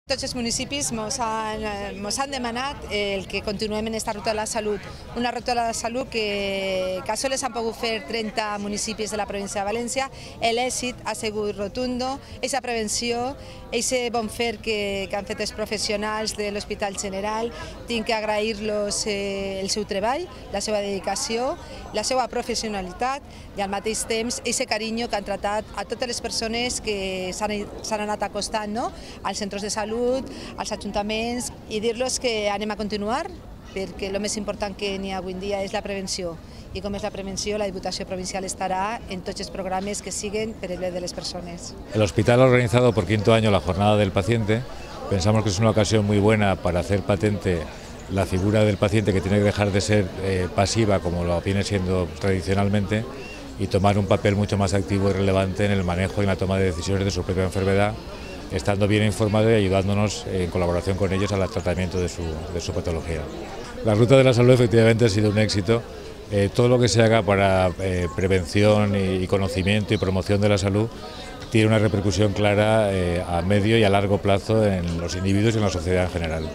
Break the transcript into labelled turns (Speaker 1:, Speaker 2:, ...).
Speaker 1: Tots els municipis mos han demanat el que continuem en aquesta ruta de la salut, una ruta de la salut que sols han pogut fer 30 municipis de la província de València. L'èxit ha sigut rotundo, aquesta prevenció, aquest bon fer que han fet els professionals de l'Hospital General. Tinc que agrair-los el seu treball, la seva dedicació, la seva professionalitat i al mateix temps aquest carinyo que han tratat a totes les persones que s'han anat acostant als centres de salut, als ajuntaments, i dir-los que anem a continuar perquè el més important que n'hi ha avui en dia és la prevenció, i com és la prevenció, la Diputació Provincial estarà en tots els programes que siguen per el bé de les persones.
Speaker 2: El hospital ha organizado por 5º año la Jornada del Paciente. Pensamos que es una ocasión muy buena para hacer patente la figura del paciente, que tiene que dejar de ser pasiva como lo viene siendo tradicionalmente y tomar un papel mucho más activo y relevante en el manejo y en la toma de decisiones de su propia enfermedad, estando bien informado y ayudándonos en colaboración con ellos al tratamiento de su patología. La Ruta de la Salud efectivamente ha sido un éxito. Todo lo que se haga para prevención y conocimiento y promoción de la salud tiene una repercusión clara a medio y a largo plazo en los individuos y en la sociedad en general.